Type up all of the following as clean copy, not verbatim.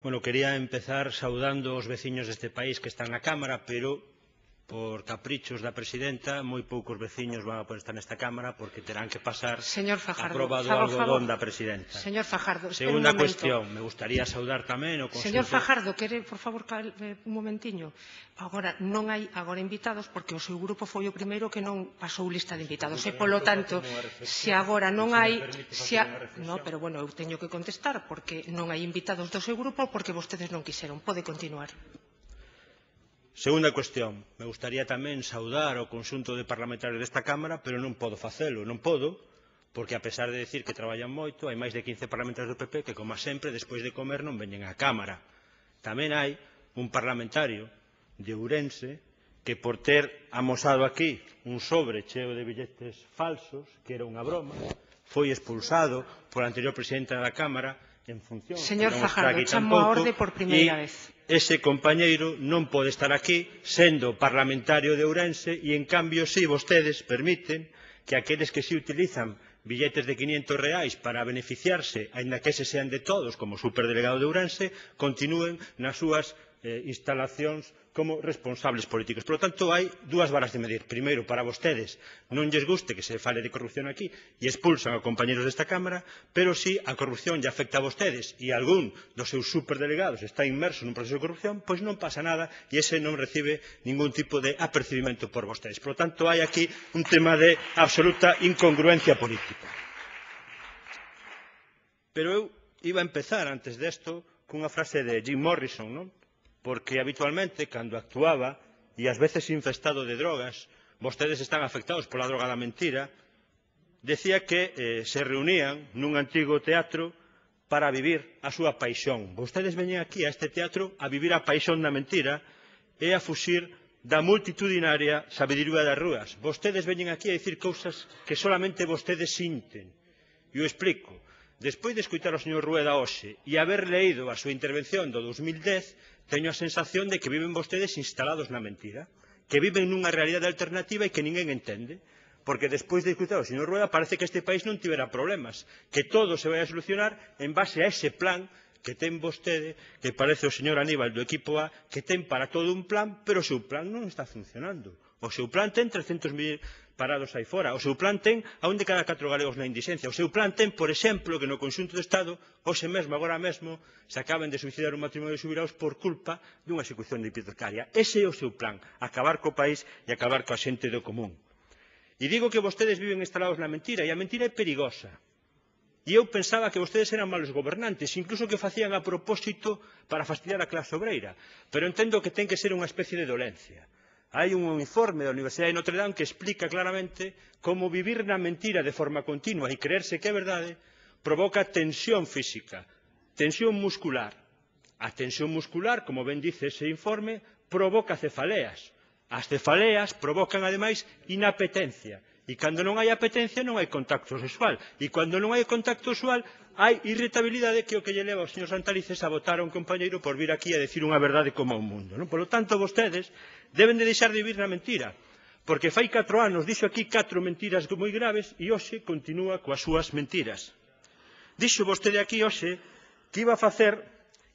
Bueno, quería empezar saudando os veciños deste país que están na Cámara, pero por caprichos da presidenta, moi poucos veciños van a poder estar nesta Cámara porque terán que pasar a proba do algodón da presidenta. Señor Fajardo, espere un Segunda momento. cuestión, me gustaría saudar tamén o conxunto... Señor Fajardo, quere, por favor, un momentiño. Agora, non hai agora invitados porque o seu grupo foi o primeiro que non pasou lista de invitados. E, polo tanto, se agora non hai... No, pero, bueno, eu teño que contestar porque non hai invitados do seu grupo porque vostedes non quixeron. Pode continuar. Segunda cuestión, me gustaría tamén saudar o conxunto de parlamentarios desta Cámara, pero non podo facelo, non podo, porque a pesar de decir que traballan moito, hai máis de 15 parlamentarios do PP que, como sempre, despois de comer non veñen á Cámara. Tamén hai un parlamentario de Ourense que, por ter amosado aquí un sobre cheo de billetes falsos, que era unha broma, foi expulsado pola anterior presidenta da Cámara en función... Señor Fajardo, chamo a orde por primeira vez. Ese compañeiro non pode estar aquí sendo parlamentario de Ourense e, en cambio, si vostedes permiten que aqueles que si utilizan billetes de 500 reais para beneficiarse, aínda que ese sean de todos, como superdelegado de Ourense, continúen nas súas instalacións como responsables políticos. Por lo tanto, hai dúas varas de medir. Primeiro, para vostedes non lles guste que se fale de corrupción aquí e expulsan a compañeros desta Cámara, pero si a corrupción lle afecta a vostedes e algún dos seus superdelegados está inmerso nun proceso de corrupción, pois non pasa nada e ese non recibe ningún tipo de apercibimento por vostedes. Por lo tanto, hai aquí un tema de absoluta incongruencia política. Pero eu iba a empezar antes desto cunha frase de Jim Morrison, non? Porque habitualmente, cando actuaba, e ás veces infestado de drogas, vostedes están afectados pola droga da mentira, decía que se reunían nun antigo teatro para vivir a súa paixón. Vostedes veñen aquí a este teatro a vivir a paixón da mentira e a fuxir da multitudinaria sabiduría das rúas. Vostedes veñen aquí a dicir cousas que solamente vostedes sinten. E o explico. Despois de escoitar ao señor Rueda hoxe e haber leído a súa intervención do 2010, teño a sensación de que viven vostedes instalados na mentira, que viven nunha realidade alternativa e que ninguén entende, porque despois de escoitar ao señor Rueda parece que este país non tivera problemas, que todo se vai a solucionar en base a ese plan que ten vostede, que parece o señor Aníbal do equipo A, que ten para todo un plan, pero o seu plan non está funcionando. O seu plan ten 300.000 parados aí fora. O seu plan ten a un de cada 4 galegos na indixencia. O seu plan ten, por exemplo, que no conxunto do Estado, hoxe mesmo, agora mesmo, se acaben de suicidar un matrimonio de xubilados por culpa dunha execución hipotecaria. Ese é o seu plan, acabar co país e acabar coa xente do común. E digo que vostedes viven instalados na mentira, e a mentira é perigosa. E eu pensaba que vostedes eran malos gobernantes, incluso que facían a propósito para fastidiar a clase obreira. Pero entendo que ten que ser unha especie de dolencia. Hai un informe da Universidade de Notre Dame que explica claramente como vivir na mentira de forma continua e creerse que é verdade provoca tensión física, tensión muscular. A tensión muscular, como ben dice ese informe, provoca cefaleas. As cefaleas provocan, ademais, inapetencia. E cando non hai apetencia non hai contacto sexual. E cando non hai contacto sexual hai irritabilidade, que é o que lle leva ao señor Santalices a votar a un compañeiro por vir aquí a decir unha verdade como un mundo. Por lo tanto, vostedes deben de deixar de vivir na mentira, porque fai 4 anos dixo aquí 4 mentiras moi graves e hoxe continúa coas súas mentiras. Dixo vostede aquí hoxe que iba a facer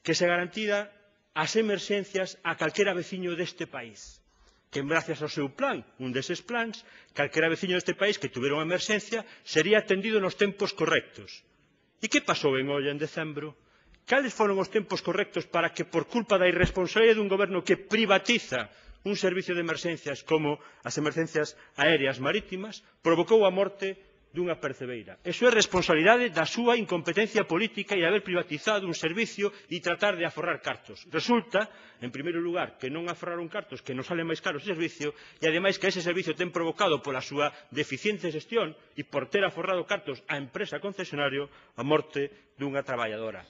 que se garantira as emerxencias a calquera veciño deste país, que gracias ao seu plan, un deses plans, calquera veciño deste país que tuvera unha emerxencia sería atendido nos tempos correctos. E que pasou en Olla en decembro? Cales foron os tempos correctos para que, por culpa da irresponsabilidade dun goberno que privatiza un servicio de emerxencias como as emerxencias aéreas marítimas, provocou a morte dunha percebeira? Eso é responsabilidade da súa incompetencia política e haber privatizado un servicio e tratar de aforrar cartos. Resulta, en primeiro lugar, que non aforraron cartos, que nos sale máis caro ese servicio, e ademais que ese servicio ten provocado pola súa deficiente xestión e por ter aforrado cartos á empresa concesionario a morte dunha traballadora.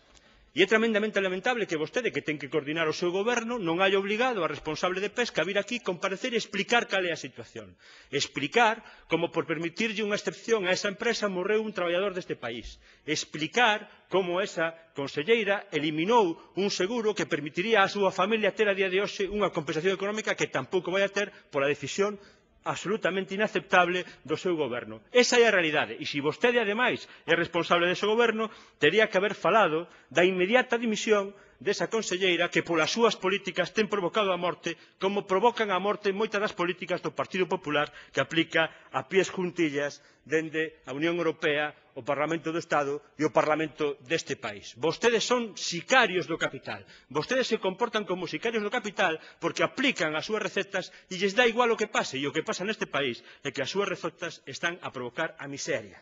E é tremendamente lamentable que vostede, que ten que coordinar o seu goberno, non haya obligado a responsable de pesca a vir aquí comparecer e explicar cal é a situación. Explicar como, por permitirlle unha excepción a esa empresa, morreu un traballador deste país. Explicar como esa conselleira eliminou un seguro que permitiría á súa familia ter a día de hoxe unha compensación económica que tampouco vai a ter pola decisión absolutamente inaceptable do seu goberno. Esa é a realidade. E se vostede, ademais, é responsable dese goberno, tería que haber falado da inmediata dimisión desa conselleira que polas súas políticas ten provocado a morte como provocan a morte moitas das políticas do Partido Popular que aplica a pies juntillas dende a Unión Europea, o Parlamento do Estado e o Parlamento deste país. Vostedes son sicarios do capital. Vostedes se comportan como sicarios do capital porque aplican as súas recetas e lles dá igual o que pase. E o que pasa neste país é que as súas recetas están a provocar a miseria.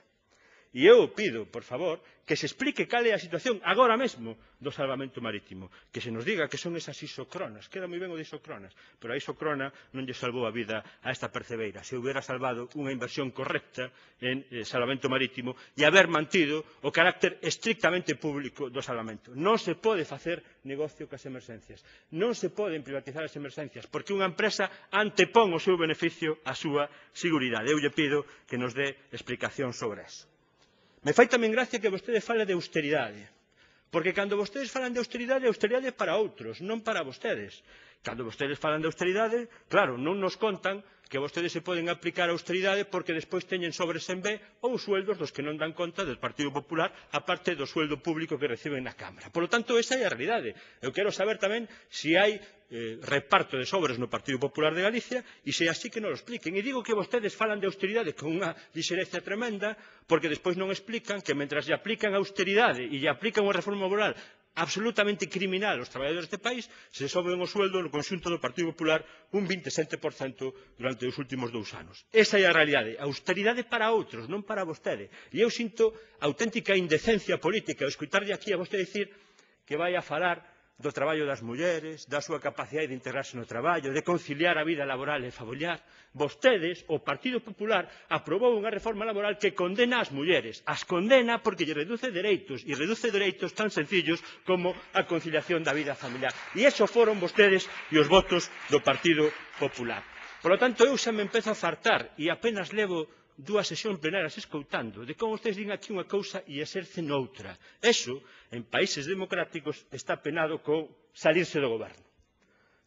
E eu pido, por favor, que se explique cal é a situación agora mesmo do salvamento marítimo. Que se nos diga que son esas isocronas. Queda moi ben o de isocronas, pero a isocrona non lle salvou a vida a esta percebeira. Se hubiera salvado unha inversión correcta en salvamento marítimo e haber mantido o carácter estrictamente público do salvamento. Non se pode facer negocio cas emerxencias. Non se poden privatizar as emerxencias, porque unha empresa antepón o seu beneficio á súa seguridade. Eu lle pido que nos dé explicación sobre eso. Me fai tamén gracia que vostede fale de austeridade, porque cando vostedes falan de austeridade é para outros, non para vostedes. Cando vostedes falan de austeridade, claro, non nos contan que vostedes se poden aplicar a austeridade porque despois teñen sobres en B ou sueldos dos que non dan conta del Partido Popular, aparte do sueldo público que reciben na Cámara. Por lo tanto, esa é a realidade. Eu quero saber tamén se hai reparto de sobres no Partido Popular de Galicia e se así que non lo expliquen. E digo que vostedes falan de austeridade con unha lixereza tremenda porque despois non explican que mentras lle aplican austeridade e lle aplican unha reforma laboral absolutamente criminal aos traballadores deste país, se soben o sueldo no conxunto do Partido Popular un 27% durante os últimos 2 anos. Esa é a realidade. Austeridade para outros, non para vostede. E eu sinto auténtica indecencia política ao escutarlle aquí a vostede dicir que vai a falar do traballo das mulleres, da súa capacidade de integrarse no traballo, de conciliar a vida laboral e familiar. Vostedes, o Partido Popular, aprobou unha reforma laboral que condena as mulleres. As condena porque lle reduce dereitos, e reduce dereitos tan sencillos como a conciliación da vida familiar. E iso foron vostedes e os votos do Partido Popular. Por lo tanto, eu xa me empezo a fartar e apenas levo 2 sesións plenarias escoutando de como vostedes din aquí unha cousa e exercen outra. Eso, en países democráticos, está penado con salirse do goberno.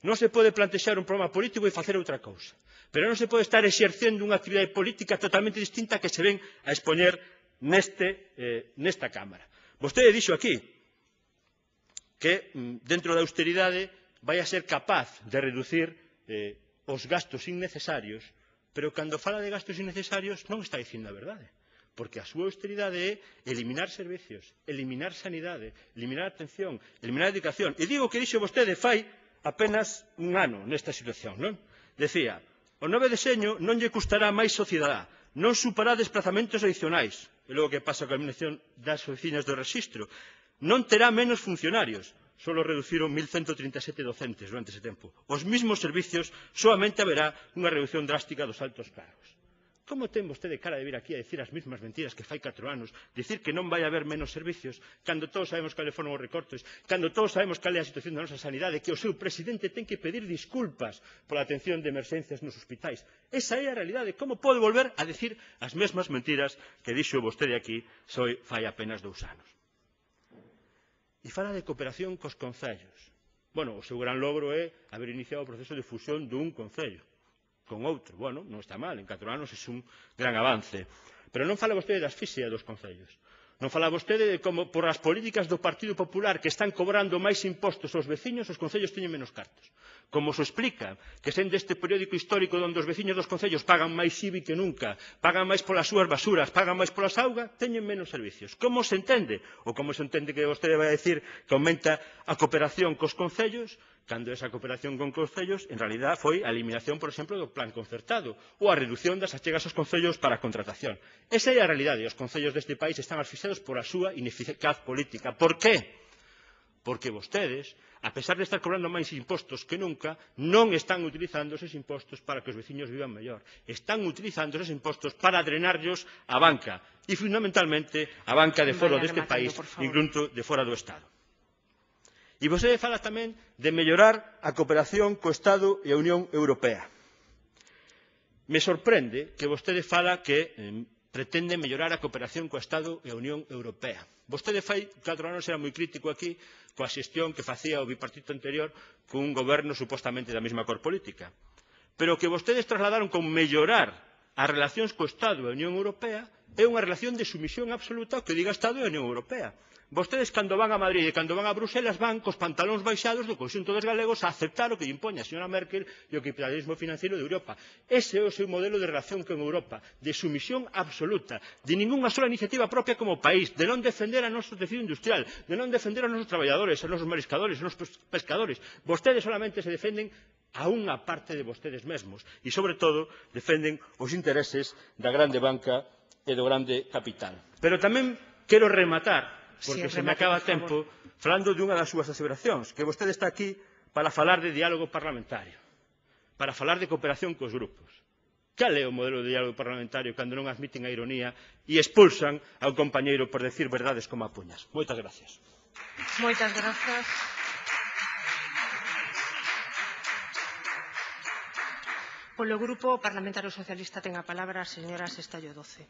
Non se pode plantexar un programa político e facer outra cousa. Pero non se pode estar exercendo unha actividade política totalmente distinta que se ven a expoñer nesta Cámara. Vostede dixo aquí que dentro da austeridade vai a ser capaz de reducir os gastos innecesarios, pero cando fala de gastos innecesarios non está dicindo a verdade, porque a súa austeridade é eliminar servicios, eliminar sanidade, eliminar atención, eliminar educación. E digo que dixo vostede fai apenas un ano nesta situación, non? Decía, o 9 de xeño non lle custará máis ao cidadá, non supará desplazamentos adicionais, e logo que pasa coa eliminación das oficinas do rexistro, non terá menos funcionarios, só reduciron 1.137 docentes durante ese tempo. Os mismos servicios, solamente haberá unha reducción drástica dos altos cargos. Como ten vostede cara de vir aquí a dicir as mesmas mentiras que fai 4 anos, dicir que non vai haber menos servicios, cando todos sabemos cales foron os recortes, cando todos sabemos cal é a situación da nosa sanidade, que o seu presidente ten que pedir disculpas pola atención de emerxencias nos hospitais. Esa é a realidade. Como pode volver a dicir as mesmas mentiras que dixo vostede aquí fai apenas 2 anos? E fala de cooperación cos concellos. Bueno, o seu gran logro é haber iniciado o proceso de fusión dun concello con outro. Bueno, non está mal, en 4 anos é un gran avance. Pero non fala vostede da asfixia dos concellos. Non fala vostede de como, por as políticas do Partido Popular que están cobrando máis impostos aos veciños, os concellos teñen menos cartos. Como se explica que sendo este periódico histórico onde os veciños dos concellos pagan máis IBI que nunca, pagan máis polas súas basuras, pagan máis polas augas, teñen menos servicios. Como se entende? Ou como se entende que vostede vai a decir que aumenta a cooperación cos concellos, cando esa cooperación con concellos, en realidad, foi a eliminación, por exemplo, do plan concertado ou a reducción das achegas aos concellos para a contratación. Esa é a realidade. Os concellos deste país están asfixiados por a súa ineficaz política. Por qué? Porque vostedes, a pesar de estar cobrando máis impostos que nunca, non están utilizando esos impostos para que os veciños vivan mellor. Están utilizando esos impostos para drenarlos á banca e, fundamentalmente, a banca de fora deste país, incluso de fora do Estado. E vostede fala tamén de mellorar a cooperación co Estado e a Unión Europea. Me sorprende que vostede fala que pretende mellorar a cooperación co Estado e a Unión Europea. Vostede fai 4 anos era moi crítico aquí coa xestión que facía o bipartito anterior cun goberno supostamente da mesma cor política. Pero o que vostedes trasladaron con mellorar as relacións co Estado e a Unión Europea é unha relación de sumisión absoluta ao que diga Estado e a Unión Europea. Vostedes, cando van a Madrid e cando van a Bruselas, van cos pantalóns baixados do conxunto dos galegos a aceptar o que lle impoña a señora Merkel e o capitalismo financiero de Europa. Ese é o seu modelo de relación con Europa, de sumisión absoluta, de ningunha sola iniciativa propia como país, de non defender a noso tecido industrial, de non defender a nosos traballadores, a nosos mariscadores, a nosos pescadores. Vostedes solamente se defenden a unha parte de vostedes mesmos e, sobre todo, defenden os intereses da grande banca e do grande capital. Pero tamén quero rematar, porque se me acaba o tempo, falando de unha das súas aseveracións, que vostede está aquí para falar de diálogo parlamentario, para falar de cooperación cos grupos. Cal é o modelo de diálogo parlamentario cando non admiten a ironía e expulsan ao compañeiro por decir verdades como a puñas? Moitas gracias. Moitas grazas. Polo Grupo Parlamentario Socialista ten a palabra a señora Sestallo Doce.